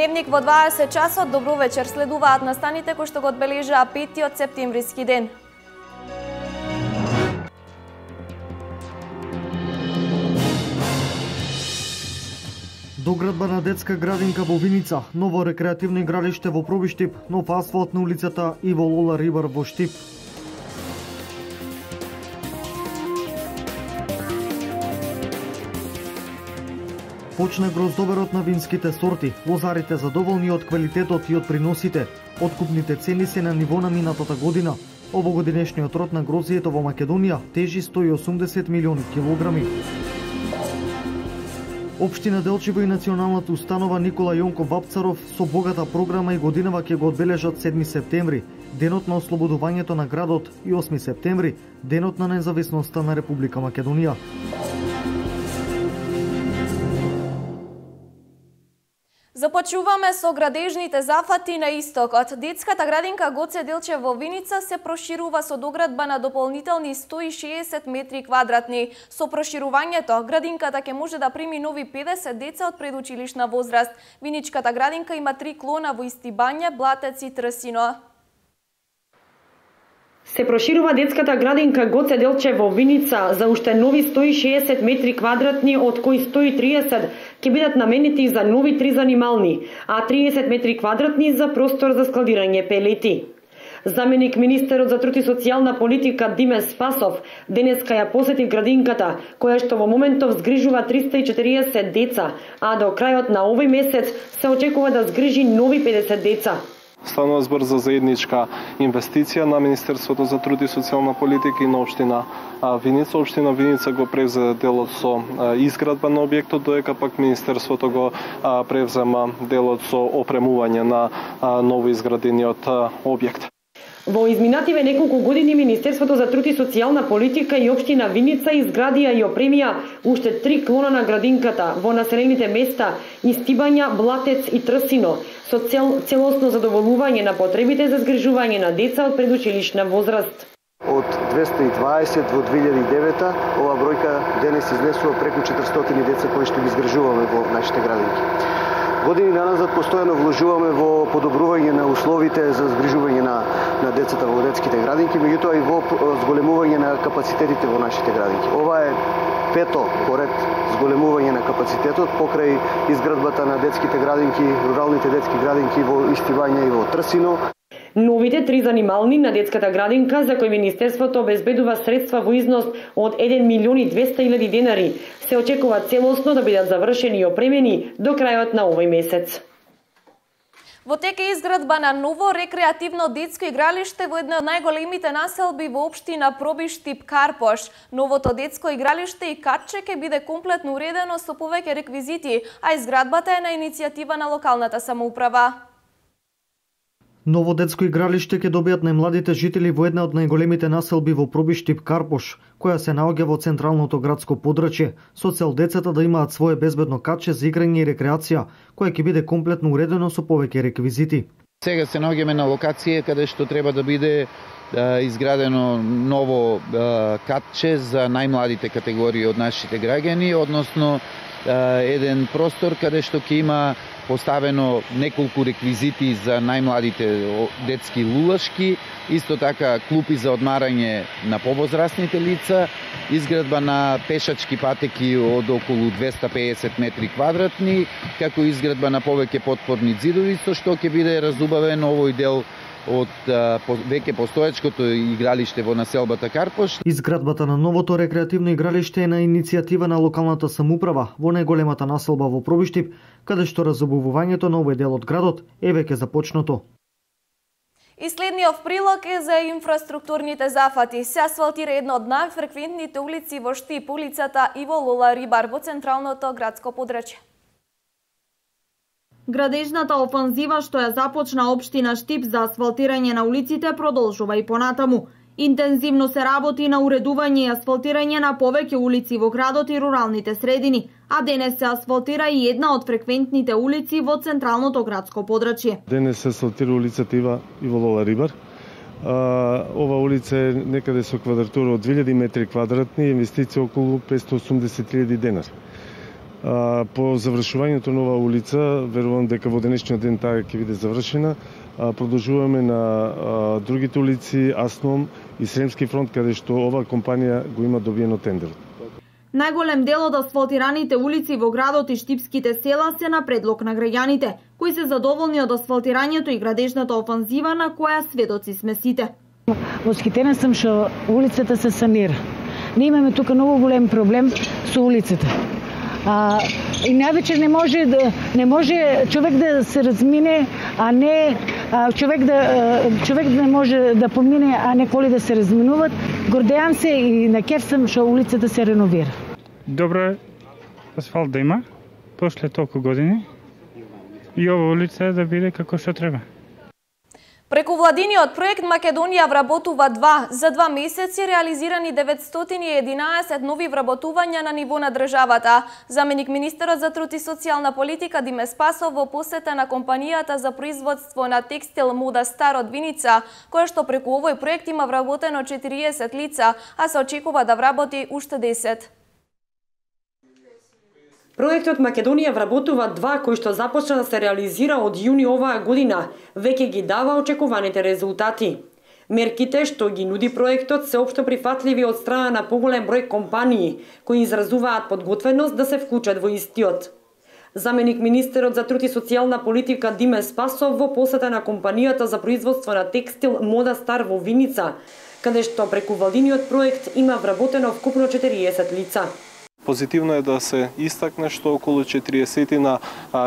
Дневник во 20 часот. Добро вечер, следуваат настаните кои што го одбележаа 5 септемвриски ден. Доградба на детска градинка во Виница, ново рекреативно игралиште во Пробиштип, нов асфалт на улицата Иво Лола Рибар во Штип. Почна гроздоберот на винските сорти. Лозарите задоволни од квалитетот и од приносите. Откупните цени се на ниво на минатата година. Овогодинешниот род на грозието во Македонија тежи 180 милиони килограми. Општина Делчево и Националната установа Никола Јонков Вапцаров со богата програма и годинава ќе го одбележат 7 септември, денот на ослободувањето на градот, и 8 септември, денот на независноста на Република Македонија. Започнуваме со градежните зафати на истокот. Детската градинка Гоце Делчев во Виница се проширува со доградба на дополнителни 160 метри квадратни. Со проширувањето, градинката ќе може да прими нови 50 деца од предучилишна возраст. Виничката градинка има 3 клона во Истибање, Блатец и Трсино. Се проширува детската градинка Гоце Делчев во Виница за уште нови 160 метри квадратни, од кои 130 ќе бидат наменети за нови 3 занимални, а 30 метри квадратни за простор за складирање пелети. Заменик министерот за труд и социјална политика Диме Спасов денеска ја посети градинката, која што во моментов згрижува 340 деца, а до крајот на овој месец се очекува да згрижи нови 50 деца. Станува збор за заедничка инвестиција на Министерството за труд и социјална политика и на општина Виница. Општина Виница го превзе делот со изградба на објектот, додека пак Министерството го превзема делот со опремување на ново изградениот објект. Во изминативе неколку години Министерството за труд и социјална политика и општина Виница изградија и опремија уште 3 клона на градинката во населените места Истибања, Блатец и Трсино, со целосно задоволување на потребите за згрижување на деца од предучилишна возраст. Од 220 во 2009, ова бројка денес изнесува преку 400 деца кои што ги згрижуваме во нашите градинки. Години наназад постојано вложуваме во подобрување на условите за згрижување на децата во детските градинки, меѓутоа и во зголемување на капацитетите во нашите градинки. Ова е пето поред зголемување на капацитетот покрај изградбата на детските градинки, руралните детски градинки во Истибање и во Трсино. Новите 3 занимални на детската градинка, за кои Министерството обезбедува средства во износ од 1.200.000 денари, се очекува целосно да бидат завршени и опремени до крајот на овој месец. Во тек е изградба на ново рекреативно детско игралиште во една од најголемите населби во општина Пробиштип Карпош. Новото детско игралиште и катче ќе биде комплетно уредено со повеќе реквизити, а изградбата е на иницијатива на локалната самоуправа. Ново детско игралиште ќе добијат најмладите жители во една од најголемите населби во Пробиштип Карпош, која се наоѓа во централното градско подрачје, со цел децата да имаат свое безбедно катче за играње и рекреација, која ќе биде комплетно уредено со повеќе реквизити. Сега се наоѓаме на локација каде што треба да биде изградено ново катче за најмладите категории од нашите граѓани, односно еден простор каде што ќе има поставено неколку реквизити за најмладите детски лулашки, исто така клупи за одмарање на повозрасните лица, изградба на пешачки патеки од околу 250 метри квадратни, како изградба на повеќе потпорни ѕидови, со што ќе биде разубавен овој дел од веќе постоечкото игралиште во населбата Карпош. Изградбата на новото рекреативно игралиште е на иницијатива на локалната самоуправа во најголемата населба во Пробиштип, каде што разобувувањето на овој дел од градот е веќе започнато. И следниот прилог е за инфраструктурните зафати. Се асфалтира една од најфреквентните улици во Штип, улицата Иво Лола Рибар во централното градско подрачје. Градежната офанзива што ја започна општина Штип за асфалтирање на улиците продолжува и понатаму. Интензивно се работи на уредување и асфалтирање на повеќе улици во градот и руралните средини, а денес се асфалтира и една од фреквентните улици во централното градско подрачје. Денес се асфалтира улицата Иво Лола Рибар. Ова улица е некаде со квадратура од 2000 метри квадратни, инвестиција околу 580.000 денари. По завршувањето на оваа улица, верувам дека во денешниот ден таа ќе биде завршена. Продолжуваме на другите улици, Асном и Сремски фронт, каде што оваа компанија го има добиено тендерот. Најголем дел од асфалтираните улици во градот и штипските села се на предлог на граѓаните, кои се задоволни од асфалтирањето и градежната офанзива на која сведоци сме сите. Восхитена сум што улицата се санира. Ние имаме тука многу голем проблем со улицата. И највеќе не може човек да се размине, а не човек не може да помине, а не коли да се разминуват. Гордеам се и на кеф сум што улицата се реновира. Добро е асфалт да има после толку години и ова улица да биде како што треба. Преку владиниот проект Македонија вработува 2, за 2 месеци реализирани 911 нови вработувања на ниво на државата. Заменик министерот за труд и социјална политика Диме Спасов во посета на компанијата за производство на текстил Мода Стар од Виница, која што преку овој проект има вработено 40 лица, а се очекува да вработи уште 10. Проектот Македонија вработува 2, кој што започна да се реализира од јуни оваа година, веќе ги дава очекуваните резултати. Мерките што ги нуди проектот се општо прифатливи од страна на поголем број компании, кои изразуваат подготвеност да се вклучат во истиот. Заменик министерот за труд и социјална политика Диме Спасов во посета на компанијата за производство на текстил Мода Стар во Виница, каде што преку владиниот проект има вработено вкупно 40 лица. Позитивно е да се истакне што околу 40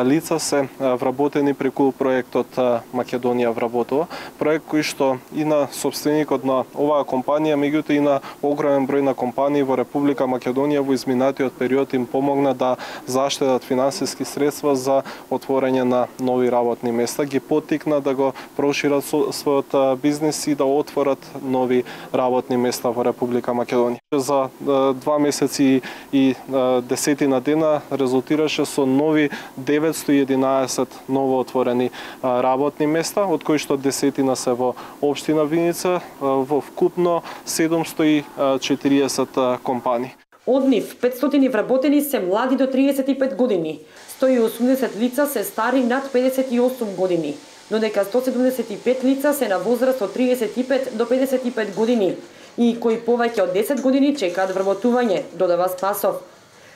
лица се вработени преку проектот Македонија вработува. Проект кој што и на собственикот на оваа компанија, меѓутоа и на огромен број на компании во Република Македонија во изминатиот период им помогна да заштедат финансиски средства за отворање на нови работни места, ги поттикна да го прошират својот бизнис и да отворат нови работни места во Република Македонија. За 2 месеци и 10 дена резултираше со нови 911 ново отворени работни места, од кои што 10 се во општина Виница, во вкупно 740 компании. Од нив 500 вработени се млади до 35 години, 180 лица се стари над 58 години, додека 175 лица се на возраст од 35 до 55 години и кои повеќе од 10 години чекаат вработување, додава Спасов.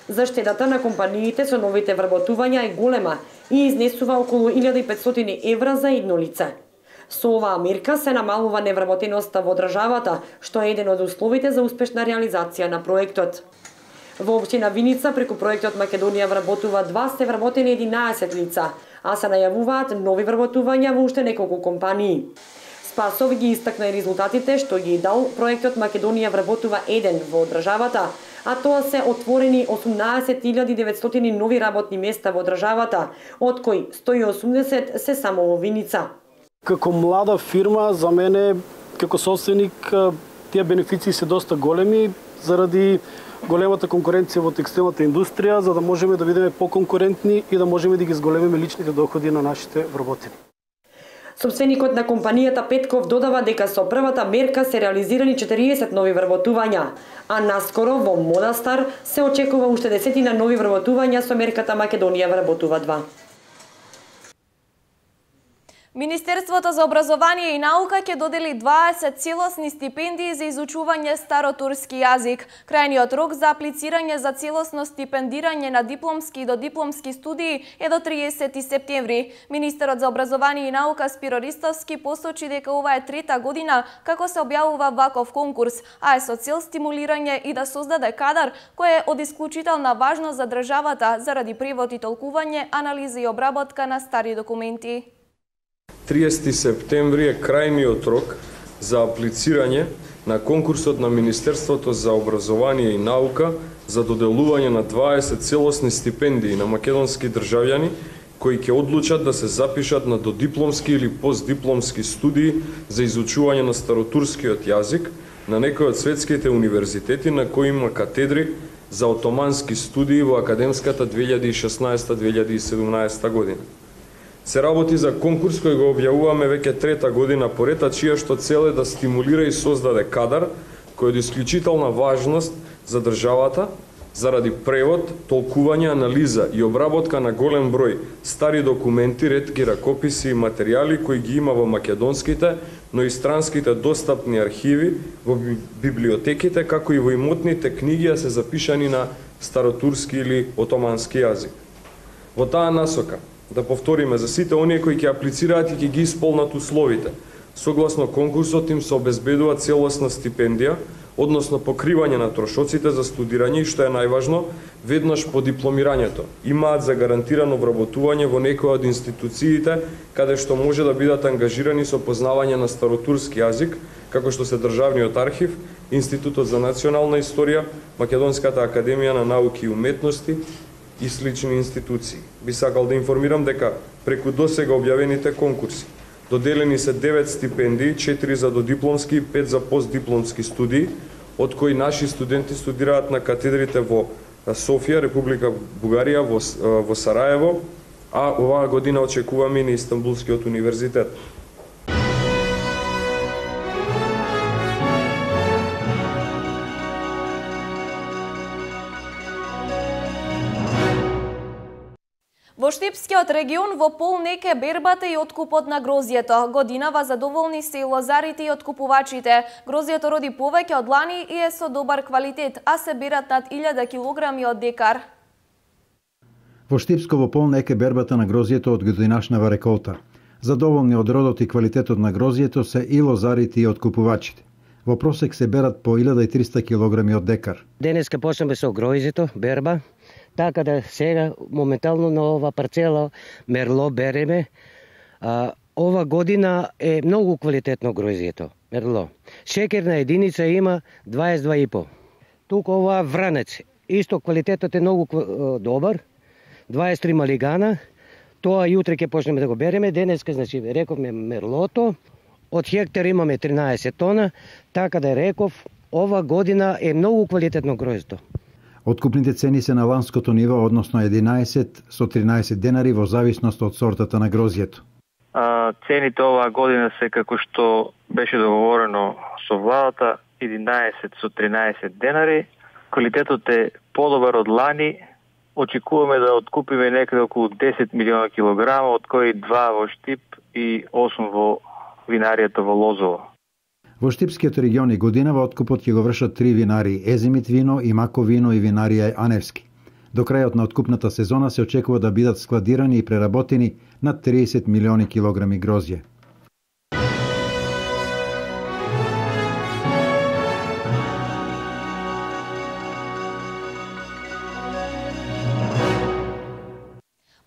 Заштедата на компаниите со новите вработувања е голема и изнесува околу 1500 евра за едно лице. Со оваа мерка се намалува невработеноста во државата, што е еден од условите за успешна реализација на проектот. Во општина Виница преку проектот Македонија вработува 2 се вработени 11 лица, а се најавуваат нови вработувања во уште неколку компании. Спасов ги истакна и резултатите што ги дал проектот Македонија вработува 1 во државата, а тоа се отворени 18.900 нови работни места во државата, од кои 180 се само во Виница. Како млада фирма, за мене, како собственик, тие бенефиции се доста големи заради големата конкуренција во текстилната индустрија, за да можеме да бидеме поконкурентни и да можеме да ги зголемиме личните доходи на нашите вработени. Собственикот на компанијата Петков додава дека со првата мерка се реализирани 40 нови вработувања, а наскоро во Мода Стар се очекува уште 10 нови вработувања со мерката Македонија вработува 2. Министерството за образование и наука ќе додели 20 целосни стипендии за изучување старотурски јазик. Крајниот рок за аплицирање за целосно стипендирање на дипломски и додипломски студии е до 30 септември. Министерот за образование и наука Спиро Ристовски посочи дека ова е трета година како се објавува ваков конкурс, а е со цел стимулирање и да создаде кадар кој е од исклучителна важност за државата заради превод и толкување, анализа и обработка на стари документи. 30 септември е крајниот рок за аплицирање на конкурсот на Министерството за образование и наука за доделување на 20 целосни стипендии на македонски државјани кои ќе одлучат да се запишат на додипломски или постдипломски студии за изучување на старотурскиот јазик на некои од светските универзитети на кои има катедри за отомански студии во академската 2016-2017 година. Се работи за конкурс кој го објавуваме веќе трета година поред, а чија што цел е да стимулира и создаде кадар кој е од исклучителна важност за државата заради превод, толкување, анализа и обработка на голем број стари документи, ретки ракописи и материјали кои ги има во македонските, но и странските достапни архиви, во библиотеките, како и во имотните книги, се запишани на старотурски или отомански јазик. Во таа насока, да повториме, за сите оние кои ќе аплицираат и ќе ги исполнат условите, согласно конкурсот им се обезбедува целосна стипендија, односно покривање на трошоците за студирање и, што е најважно, веднаш по дипломирањето, имаат за гарантирано вработување во некоја од институциите каде што може да бидат ангажирани со познавање на старотурски јазик, како што се Државниот архив, Институтот за национална историја, Македонската академија на науки и уметности и слични институции. Би сакал да информирам дека преку досега објавените конкурси доделени се 9 стипендии, 4 за додипломски и 5 за постдипломски студии, од кои наши студенти студираат на катедрите во Софија, Република Бугарија, во Сараево, а оваа година очекуваме и на Истанбулскиот универзитет. Во Штипскиот регион во пол неке бербата и откупот на грозјето. Годинава задоволни се и лозарите и откупувачите. Грозјето роди повеќе од лани и е со добар квалитет, а се берат над 1000 килограми од декар. Во Штипско во пол неке бербата на грозјето од годинашнава реколта. Задоволни од родот и квалитетот на грозјето се и лозарите и откупувачите. Во просек се берат по 1300 килограми од декар. Денеска почнеме со гројзето, берба. Така да сега моментално на ова парцела мерло береме. Ова година е многу квалитетно гројзето, мерло. Шекерна единица има 22,5. Тука ова вранец, исто квалитетот е многу добар. 23 малигана. Тоа јутре ќе почнеме да го береме. Денеска, значи, рековме мерлото. Од хектар имаме 13 тона, така да реков, ова година е многу квалитетно гројзето. Откупните цени се на ланското ниво, односно 11 со 13 денари во зависност од сортата на грозјето. Цените оваа година се како што беше договорено со владата, 11 со 13 денари. Квалитетот е подобар од лани. Очекуваме да откупиме некаде околу 10 милиона килограма, од кои 2 во Штип и 8 во винаријата во Лозово. Во Штипскиот регион и годинава откупот ќе го вршат 3 винари: Езимит вино, Имако вино и винарија Аневски. До крајот на откупната сезона се очекува да бидат складирани и преработени над 30 милиони килограми грозје.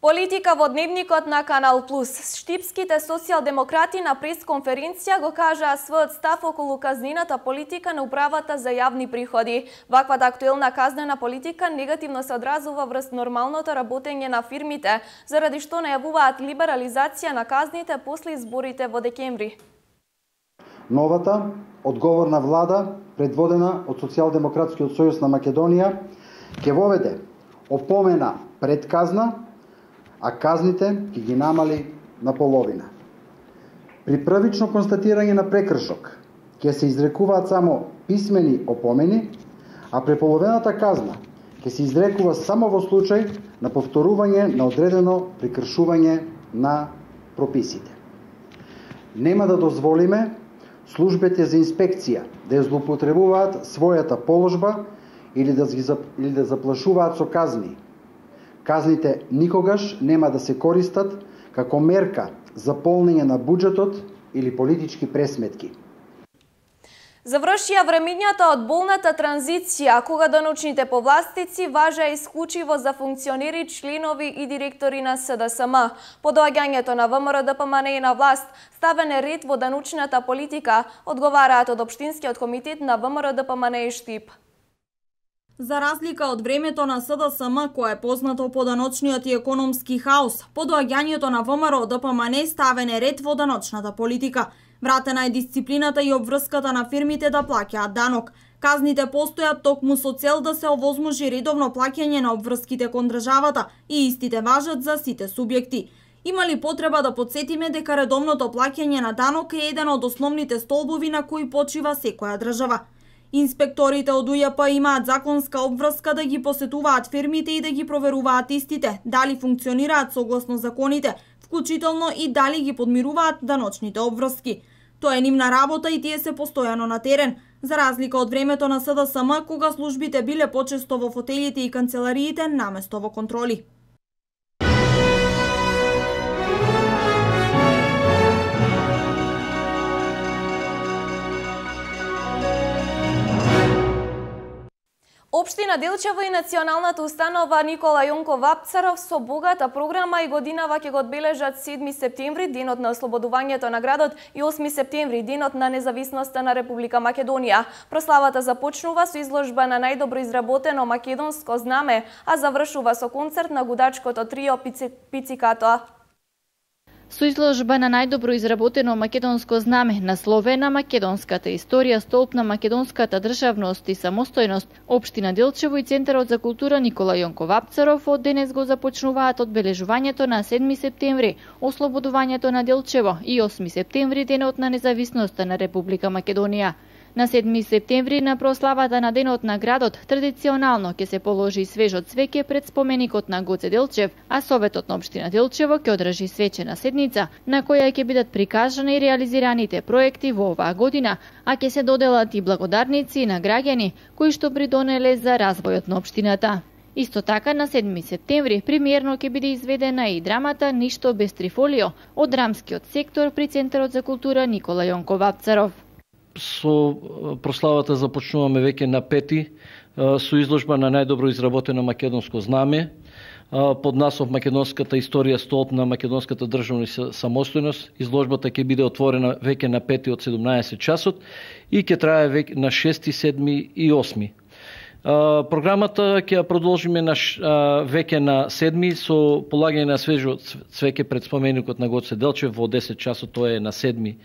Политика во дневникот на Канал Плюс. Штипските социјалдемократи на пресконференција го кажаа својот став околу казнената политика на управата за јавни приходи. Ваквата актуелна казнена политика негативно се одразува врз нормалното работење на фирмите, заради што најавуваат либерализација на казните после изборите во декември. Новата, одговорна влада, предводена од Социјалдемократскиот сојуз на Македонија, ќе воведе опомена пред казна, а казните ќе ги намали на половина. При првично констатирање на прекршок ќе се изрекуваат само писмени опомени, а преполовената казна ќе се изрекува само во случај на повторување на одредено прекршување на прописите. Нема да дозволиме службите за инспекција да ја злоупотребуваат својата положба или да заплашуваат со казни. Казните никогаш нема да се користат како мерка за полнење на буџетот или политички пресметки. Завршија времењата од болната транзиција, кога даночните повластици важа исклучиво за функционери, членови и директори на СДСМ. По доаѓањето на ВМРО-ДПМН на власт, ставен е ред во даночната политика, одговараат од Општинскиот комитет на ВМРО-ДПМН и Штип. За разлика од времето на СДСМ, кое е познато по даночниот и економски хаос, по доаѓањето на ВМРО-ДПМН ставен е ред во даночната политика. Вратена е дисциплината и обврската на фирмите да плаќаат данок. Казните постојат токму со цел да се овозможи редовно плаќање на обврските кон државата и истите важат за сите субјекти. Има ли потреба да подсетиме дека редовното плаќање на данок е еден од основните столбови на кои почива секоја држава? Инспекторите од УЈП имаат законска обврска да ги посетуваат фирмите и да ги проверуваат истите, дали функционираат согласно законите, вклучително и дали ги подмируваат даночните обврски. Тоа е нивна работа и тие се постојано на терен, за разлика од времето на СДСМ, кога службите биле почесто во фотелите и канцелариите наместо во контроли. Општина Делчево и Националната установа Никола Јонко Вапцаров со богата програма и годинава ќе го одбележат 7 септември, денот на ослободувањето на градот, и 8 септември, денот на независноста на Република Македонија. Прославата започнува со изложба на најдобро изработено македонско знаме, а завршува со концерт на гудачкото трио Пицикато. Со изложба на најдобро изработено македонско знаме, насловена македонската историја, столб на македонската државност и самостојност, Општина Делчево и Центарот за култура Никола Јонко Вапцаров од денес го започнуваат одбележувањето на 7 септември, ослободувањето на Делчево, и 8 септември, денот на независноста на Република Македонија. На 7 септември, на прославата на денот на градот, традиционално ќе се положи свежо цвеќе пред споменикот на Гоце Делчев, а Советот на Општина Делчево ќе одржи свечена седница, на која ќе бидат прикажани реализираните проекти во оваа година, а ќе се доделат и благодарници на граѓани кои што придонеле за развојот на општината. Исто така, на 7 септември, премиерно ќе биде изведена и драмата Ништо без трифолио од драмскиот сектор при Центарот за култура Никола Јонко Вапцаров. Со прославата започнуваме веќе на 5 со изложба на најдобро изработено македонско знаме под наслов Македонската историја, столб на македонската државност и самостојност. Изложбата ќе биде отворена веќе на 5 од 17 часот и ќе трае веќе на 6, 7 и 8. Програмата ќе ја продолжиме веќе на 7 со полагање на свежо цвеќе пред споменикот на Гоце Делчев во 10 часот, тоа е на 7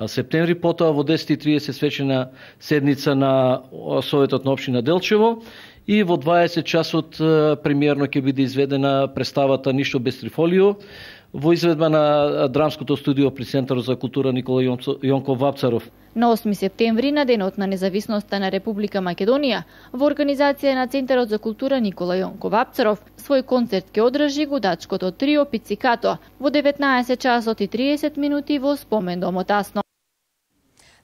септември, потоа во 10:30 свечена седница на Советот на Општина Делчево и во 20 часот премиерно ќе биде изведена представата Ништо без трифолио во изведба на драмското студио при Центарот за култура Никола Јонко Вапцаров. На 8 септември, на денот на независноста на Република Македонија, во организација на Центарот за култура Никола Јонко Вапцаров, свој концерт ќе одржи гудачкото трио Пицикато во 19 часот и 30 минути во спомен домот Асно.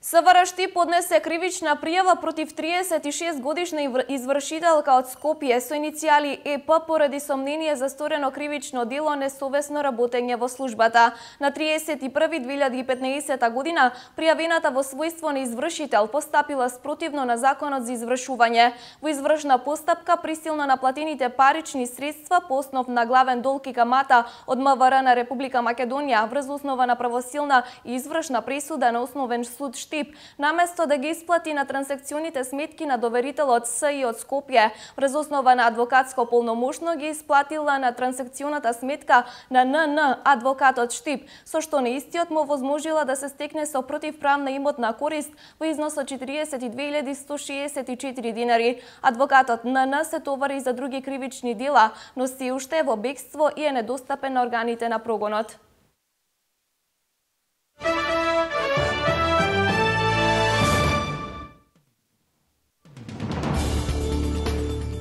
СВР поднесе кривична пријава против 36-годишна извршителка од Скопје со иницијали ЕП поради сомнение за сторено кривично дело несовесно работење во службата. На 31.2015 година пријавената во својство на извршител постапила спротивно на законот за извршување. Во извршна постапка присилно наплатените парични средства по основ на главен долг и камата од МВР на Република Македонија врз основа на правосилна и извршна пресуда на основен суд Штип, наместо да ги исплати на трансакционите сметки на доверителот СИ од Скопје, врз основа на адвокатско полномошно ги исплатила на трансакционата сметка на НН адвокатот Штип, со што на истиот му возможила да се стекне со противправна имотна корист во износ од 42.164 динари. Адвокатот НН се товари за други кривични дела, но се уште во бегство и е недостапен на органите на прогонот.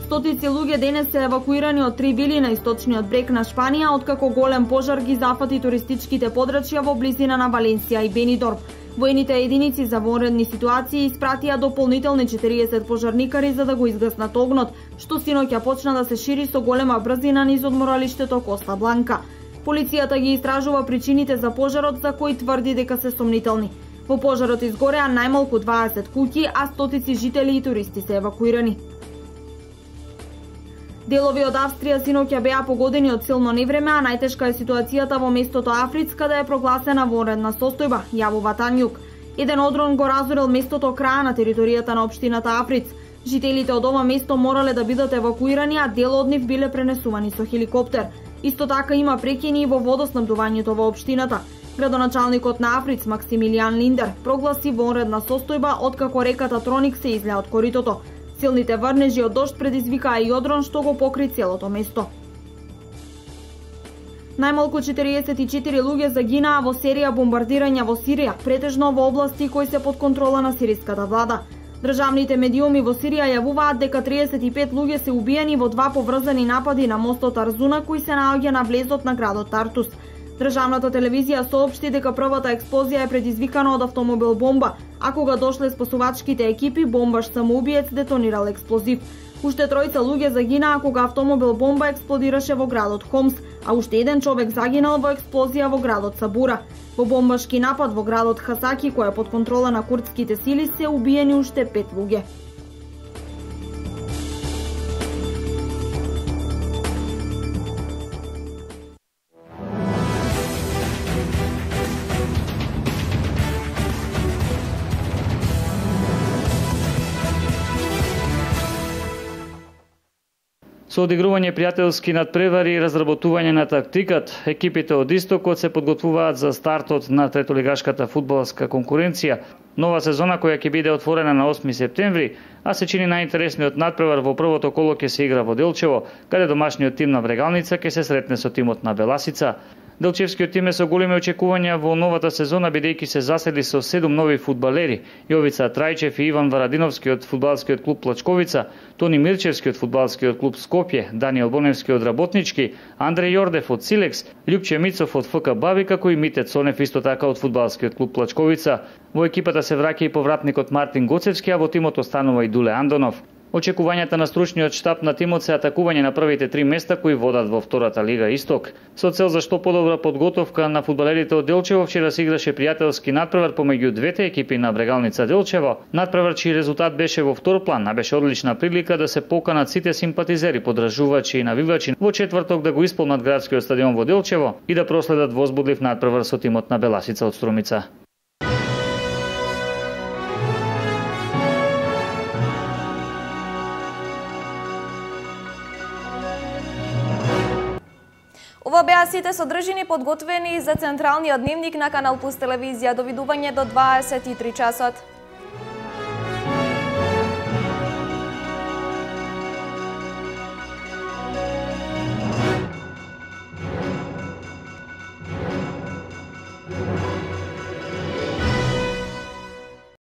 Стотици луѓе денес се евакуирани од 3 вили на источниот брег на Шпанија, откако голем пожар ги зафати туристичките подрачја во близина на Валенсија и Бенидорм. Воените единици за вонредни ситуации испратија дополнителни 40 пожарникари за да го изгаснат огнот, што синоќа почна да се шири со голема брзина низ одморалиштето Коста Бланка. Полицијата ги истражува причините за пожарот, за кои тврди дека се сомнителни. Во пожарот изгореа најмалку 20 куќи, а стотици жители и туристи се евакуирани. Делови од Австрија синоќа беа погодени од силно невреме, а најтешка е ситуацијата во местото Африц, каде е прогласена вонредна состојба, јавува Танјук. Еден одрон го разорил местото краја на територијата на општината Африц. Жителите од ова место морале да бидат евакуирани, а дел од нив биле пренесувани со хеликоптер. Исто така има прекини и во водоснабдувањето во општината. Градоначалникот на Африц, Максимилијан Линдер, прогласи вонредна состојба откако реката Троник се излеа од коритото. Силните врнежи од дожд предизвикаа и одрон што го покри целото место. Најмалку 44 луѓе загинаа во серија бомбардирања во Сирија, претежно во области кои се под контрола на сириската влада. Државните медиуми во Сирија јавуваат дека 35 луѓе се убиени во два поврзани напади на мостот Арзуна кој се наоѓа на влезот на градот Тартус. Државната телевизија соопшти дека првата експлозија е предизвикана од автомобил бомба, а кога дошле спасувачките екипи, бомбаш самоубиец детонирал експлозив. Уште тројца луѓе загинаа кога автомобил бомба експлодираше во градот Хомс, а уште еден човек загинал во експлозија во градот Сабура. Во бомбашки напад во градот Хасаки, кој е под контрола на курдските сили, се убиени уште 5 луѓе. Со одигрување пријателски надпревари и разработување на тактикат, екипите од Истокот се подготвуваат за стартот на третолигашката фудбалска конкуренција, нова сезона која ќе биде отворена на 8 септември, а се чини најинтересниот надпревар во првото коло ќе се игра во Делчево, каде домашниот тим на Брегалница ќе се сретне со тимот на Беласица. Делчевскиот тим е со големи очекувања во новата сезона бидејќи се засели со 7 нови фудбалери: Јовица Трајчев и Иван Варадиновски од фудбалскиот клуб Плачковица, Тони Мирчевски од фудбалскиот клуб Скопје, Даниел Боневски од Работнички, Андреј Јордев од Силекс, Љупче Мицов од ФК Баби, како и Мите Цонев исто така од фудбалскиот клуб Плачковица. Во екипата се враќа и повратникот Мартин Гоцевски, а во тимот останува и Дуле Андонов. Очекувањата на стручниот штаб на тимот се атакување на првите 3 места кои водат во втората лига Исток. Со цел за што подобра подготовка на фудбалерите од Делчево, вчера се играше пријателски надпревар помеѓу двете екипи на Брегалница Делчево. Надпревар чиј резултат беше во втор план, а беше одлична прилика да се поканат сите симпатизери, подржувачи и навивачи во четврток да го исполнат градскиот стадион во Делчево и да проследат возбудлив надпревар со тимот на Беласица од Струмица. Ова беа сите содржини подготвени за централниот дневник на Канал Плюс телевизија. Довидување до 23 часот.